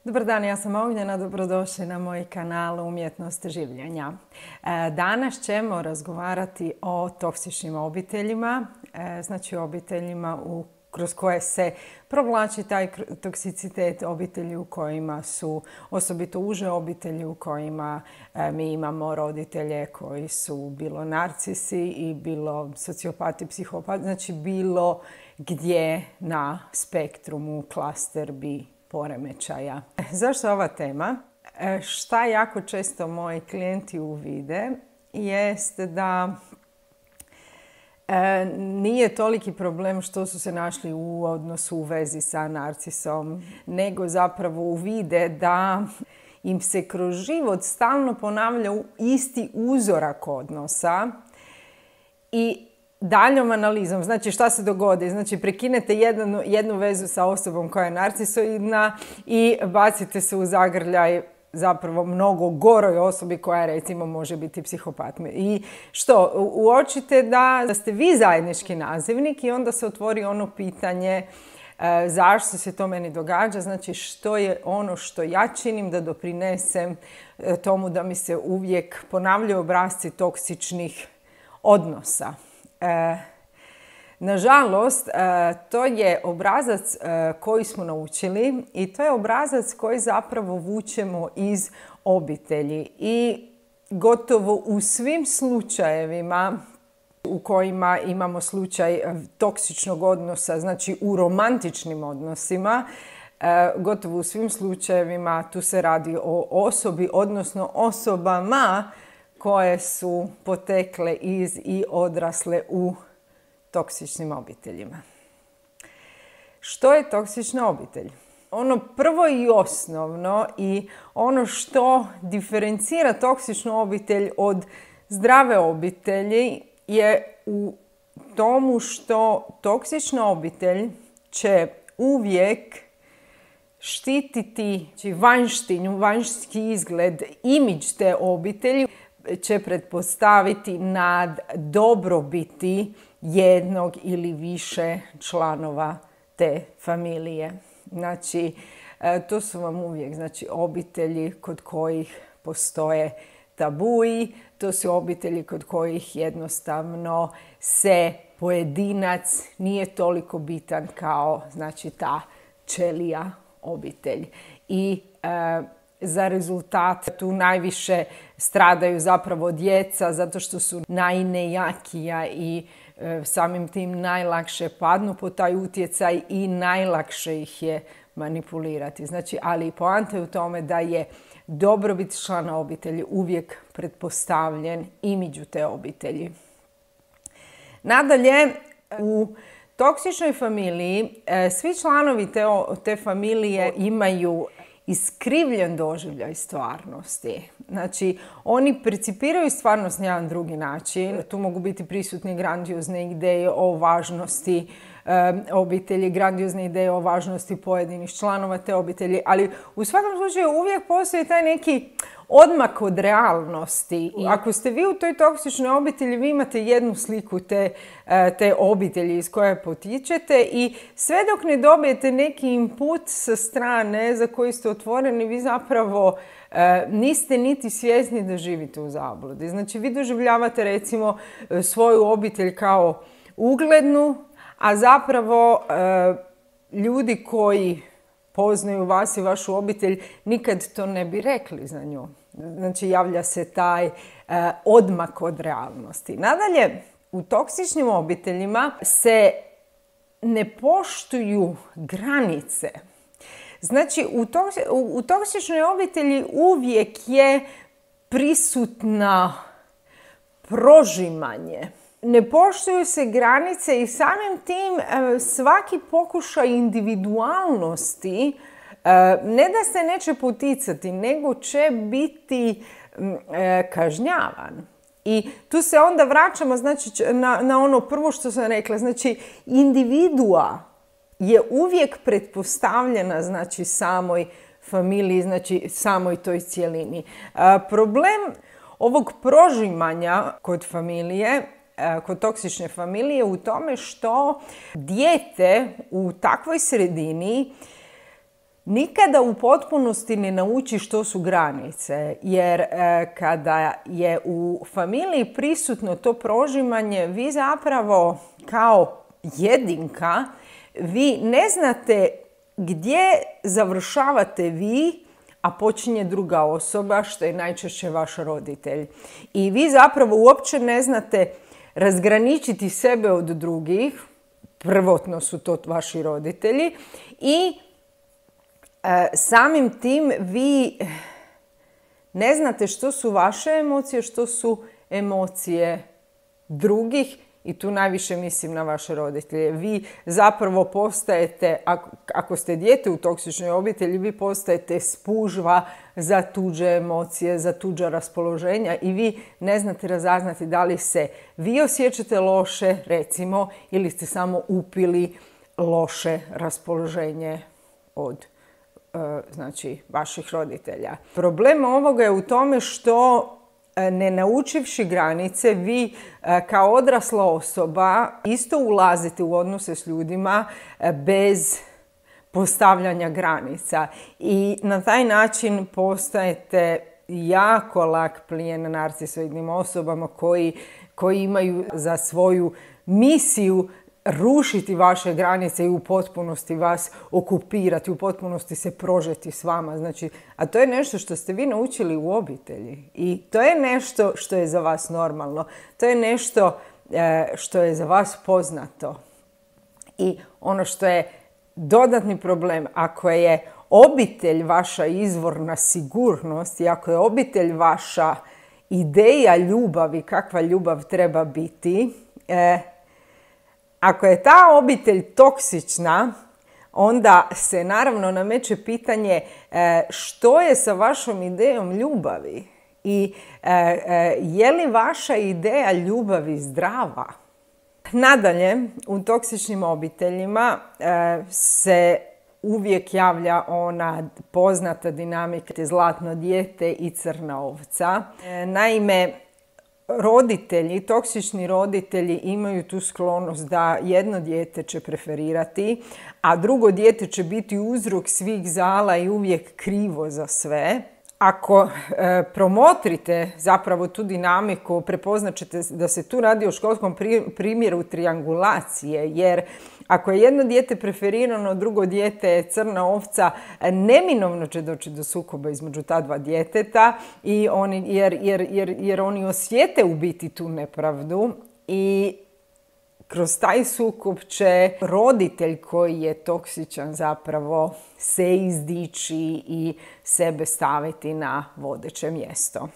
Dobar dan, ja sam Ognjena, dobrodošli na moj kanal Umjetnost življenja. Danas ćemo razgovarati o toksičnim obiteljima, znači obiteljima kroz koje se provlači taj toksicitet, obitelji u kojima su osobito uže obitelji u kojima mi imamo roditelje koji su bilo narcisi i bilo sociopati, psihopati, znači bilo gdje na spektrumu klaster bi poremećaja. Zašto ova tema? Šta jako često moji klijenti uvide jest da nije toliki problem što su se našli u odnosu u vezi sa narcisom, nego zapravo uvide da im se kroz život stalno ponavlja isti uzorak odnosa i daljom analizom, znači šta se dogodi, znači prekinete jednu vezu sa osobom koja je narcisoidna i bacite se u zagrljaj zapravo mnogo goroj osobi koja recimo može biti psihopat. I što? Uočite da ste vi zajednički nazivnik i onda se otvori ono pitanje zašto se to meni događa, znači što je ono što ja činim da doprinesem tomu da mi se uvijek ponavljaju obrasci toksičnih odnosa. Nažalost, to je obrazac koji smo naučili i to je obrazac koji zapravo vučemo iz obitelji i gotovo u svim slučajevima u kojima imamo slučaj toksičnog odnosa, znači u romantičnim odnosima, gotovo u svim slučajevima tu se radi o osobi, odnosno osobama koje su potekle iz i odrasle u toksičnim obiteljima. Što je toksična obitelj? Ono prvo i osnovno i ono što diferencira toksičnu obitelj od zdrave obitelji je u tomu što toksična obitelj će uvijek štititi vanjštinu, vanjski izgled, imidž te obitelji, će pretpostaviti nad dobrobiti jednog ili više članova te familije. Znači, to su vam uvijek obitelji kod kojih postoje tabuji, to su obitelji kod kojih jednostavno se pojedinac nije toliko bitan kao ta ćelija obitelj. I za rezultat tu najviše stradaju zapravo djeca zato što su najnejakija i samim tim najlakše padnu pod taj utjecaj i najlakše ih je manipulirati. Znači, ali poanta je u tome da je dobrobit člana obitelji uvijek pretpostavljen imidžu te obitelji. Nadalje, u toksičnoj familiji svi članovi te familije imaju iskrivljen doživljaj stvarnosti. Znači, oni percipiraju stvarnost na jedan drugi način. Tu mogu biti prisutni grandiozne ideje o važnosti obitelji, grandiozne ideje o važnosti pojedinih članova te obitelji, ali u svakom slučaju uvijek postoji taj neki odmak od realnosti. I ako ste vi u toj toksičnoj obitelji, vi imate jednu sliku te obitelji iz koje potičete i sve dok ne dobijete neki input sa strane za koji ste otvoreni, vi zapravo niste niti svjesni da živite u zabludi. Znači, vi doživljavate recimo svoju obitelj kao uglednu, a zapravo ljudi koji poznaju vas i vašu obitelj nikad to ne bi rekli za nju. Znači, javlja se taj odmak od realnosti. Nadalje, u toksičnim obiteljima se ne poštuju granice. Znači, u toksičnoj obitelji uvijek je prisutna prožimanje. Ne poštuju se granice i samim tim svaki pokušaj individualnosti ne da se neće poticati, nego će biti kažnjavan. I tu se onda vraćamo na ono prvo što sam rekla. Znači, individua je uvijek pretpostavljena samoj familiji, samoj toj cjelini. Problem ovog prožimanja kod familije, kod toksične familije, u tome što dijete u takvoj sredini nikada u potpunosti ne nauči što su granice, jer kada je u familiji prisutno to prožimanje, vi zapravo kao jedinka, vi ne znate gdje završavate vi, a počinje druga osoba, što je najčešće vaš roditelj. I vi zapravo uopće ne znate razgraničiti sebe od drugih, prvotno su to vaši roditelji, i samim tim vi ne znate što su vaše emocije, što su emocije drugih, i tu najviše mislim na vaše roditelje. Vi zapravo postajete, ako ste dijete u toksičnoj obitelji, vi postajete spužva za tuđe emocije, za tuđa raspoloženja i vi ne znate razaznati da li se vi osjećate loše, recimo, ili ste samo upili loše raspoloženje od znači vaših roditelja. Problem ovoga je u tome što ne naučivši granice, vi kao odrasla osoba isto ulazite u odnose s ljudima bez postavljanja granica. I na taj način postajete jako lak plijen narcisoidnim osobama koji imaju za svoju misiju rušiti vaše granice i u potpunosti vas okupirati, u potpunosti se prožeti s vama. Znači, a to je nešto što ste vi naučili u obitelji i to je nešto što je za vas normalno. To je nešto što je za vas poznato. I ono što je dodatni problem, ako je obitelj vaša izvorna sigurnost i ako je obitelj vaša ideja ljubavi, kakva ljubav treba biti, ako je ta obitelj toksična, onda se naravno nameće pitanje što je sa vašom idejom ljubavi i je li vaša ideja ljubavi zdrava? Nadalje, u toksičnim obiteljima se uvijek javlja ona poznata dinamika zlatno dijete i crna ovca. Naime, roditelji, toksični roditelji imaju tu sklonost da jedno dijete će preferirati, a drugo dijete će biti uzrok svih zala i uvijek krivo za sve. Ako promotrite zapravo tu dinamiku, prepoznat ćete da se tu radi o školskom primjeru triangulacije, jer ako je jedno dijete preferirano, drugo dijete je crna ovca, neminovno će doći do sukoba između ta dva djeteta jer oni osjete u biti tu nepravdu i kroz taj sukob će roditelj koji je toksičan zapravo se izdići i sebe staviti na vodeće mjesto.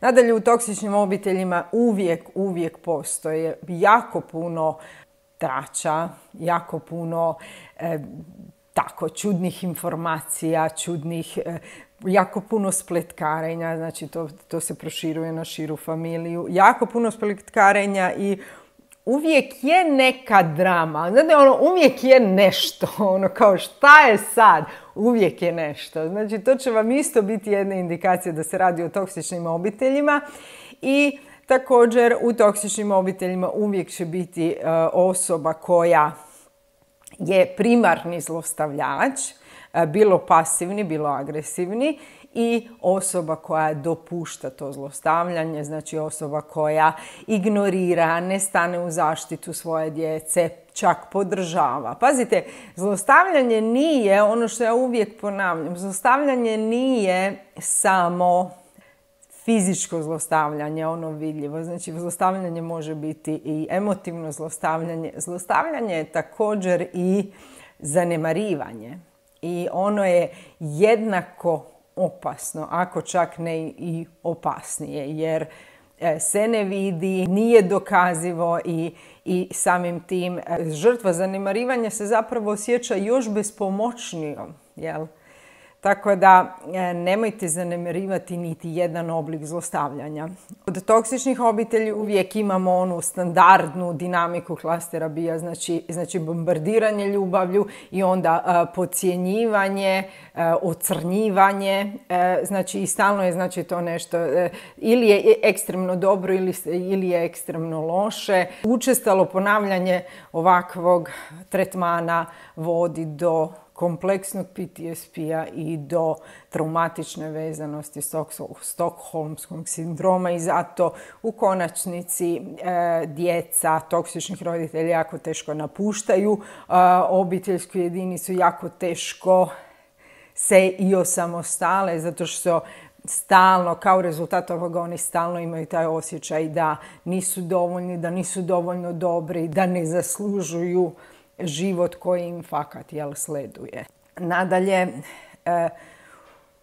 Nadalje, u toksičnim obiteljima uvijek postoje jako puno trača, jako puno čudnih informacija, jako puno spletkarenja, znači to se proširuje na širu familiju, jako puno spletkarenja i uvijek je neka drama, znate, uvijek je nešto, kao šta je sad, uvijek je nešto. Znači, to će vam isto biti jedna indikacija da se radi o toksičnim obiteljima i također u toksičnim obiteljima uvijek će biti osoba koja je primarni zlostavljač, bilo pasivni, bilo agresivni, i osoba koja dopušta to zlostavljanje, znači osoba koja ignorira, ne stane u zaštitu svoje djece, čak podržava. Pazite, zlostavljanje nije, ono što ja uvijek ponavljam, zlostavljanje nije samo fizičko zlostavljanje, ono vidljivo. Znači, zlostavljanje može biti i emotivno zlostavljanje. Zlostavljanje je također i zanemarivanje. I ono je jednako opasno, ako čak ne i opasnije, jer se ne vidi, nije dokazivo i samim tim žrtva zanemarivanja se zapravo osjeća još bespomoćnijom, jel? Tako da nemojte zanemarivati niti jedan oblik zlostavljanja. Od toksičnih obitelji uvijek imamo onu standardnu dinamiku klastera bija, znači bombardiranje ljubavlju i onda podcjenjivanje, ocrnjivanje, znači i stalno je znači to nešto ili je ekstremno dobro ili je ekstremno loše. Učestalo ponavljanje ovakvog tretmana vodi do kompleksnog PTSP-a i do traumatične vezanosti stokholmskog sindroma i zato u konačnici djeca toksičnih roditelja jako teško napuštaju obiteljsku jedinicu, jako teško se i osamostale zato što stalno, kao rezultat ovoga, oni stalno imaju taj osjećaj da nisu dovoljni, da nisu dovoljno dobri, da ne zaslužuju život koji im fakat sleduje. Nadalje,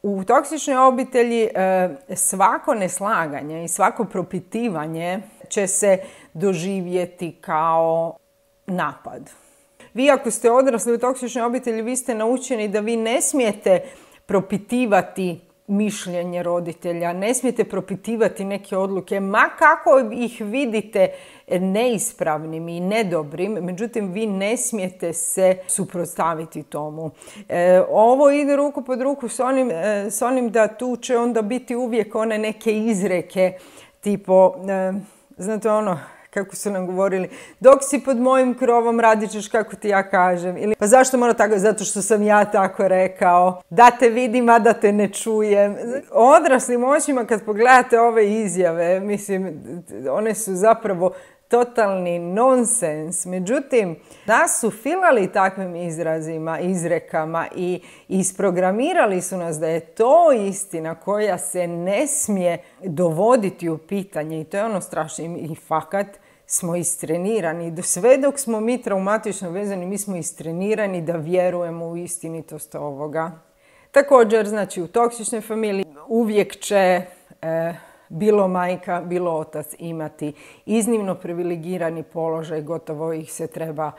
u toksičnoj obitelji svako neslaganje i svako propitivanje će se doživjeti kao napad. Vi ako ste odrasli u toksičnoj obitelji, vi ste naučeni da vi ne smijete propitivati mišljenje roditelja, ne smijete propitivati neke odluke, ma kako ih vidite neispravnim i nedobrim, međutim vi ne smijete se suprotstaviti tomu. Ovo ide ruku pod ruku s onim da tu će onda biti uvijek one neke izreke, tipo, znate ono, kako su nam govorili, dok si pod mojim krovom radit ćeš kako ti ja kažem. Ili, pa zašto mora tako? Zato što sam ja tako rekao. Da te vidim, a da te ne čujem. Odraslim očima kad pogledate ove izjave, mislim, one su zapravo totalni nonsens. Međutim, nas su filali takvim izrazima, izrekama i isprogramirali su nas da je to istina koja se ne smije dovoditi u pitanje i to je ono strašno i fakat smo istrenirani. Sve dok smo mi traumatično vezani, mi smo istrenirani da vjerujemo u istinitost ovoga. Također, znači, u toksičnoj familiji uvijek će bilo majka, bilo otac imati iznimno privilegirani položaj, gotovo ih se treba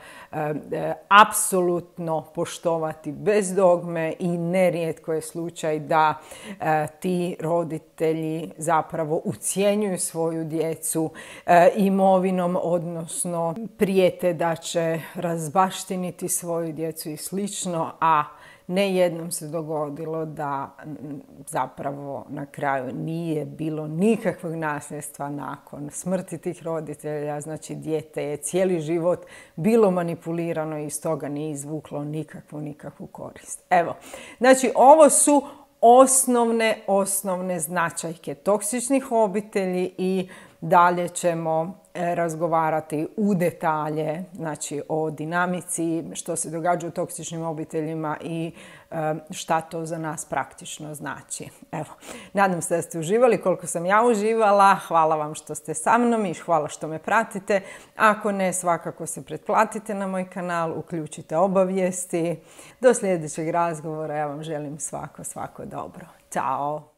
apsolutno poštovati bez dogme i nerijetko je slučaj da ti roditelji zapravo ucjenjuju svoju djecu imovinom, odnosno prijete da će razbaštiniti svoju djecu i slično, a ne jednom se dogodilo da zapravo na kraju nije bilo nikakvog nasljedstva nakon smrti tih roditelja. Znači, dijete je cijeli život bilo manipulirano i iz toga nije izvuklo nikakvu korist. Evo, znači ovo su osnovne značajke toksičnih obitelji i dalje ćemo razgovarati u detalje, znači o dinamici, što se događa u toksičnim obiteljima i šta to za nas praktično znači. Evo, nadam se da ste uživali koliko sam ja uživala. Hvala vam što ste sa mnom i hvala što me pratite. Ako ne, svakako se pretplatite na moj kanal, uključite obavijesti. Do sljedećeg razgovora ja vam želim svako dobro. Ćao!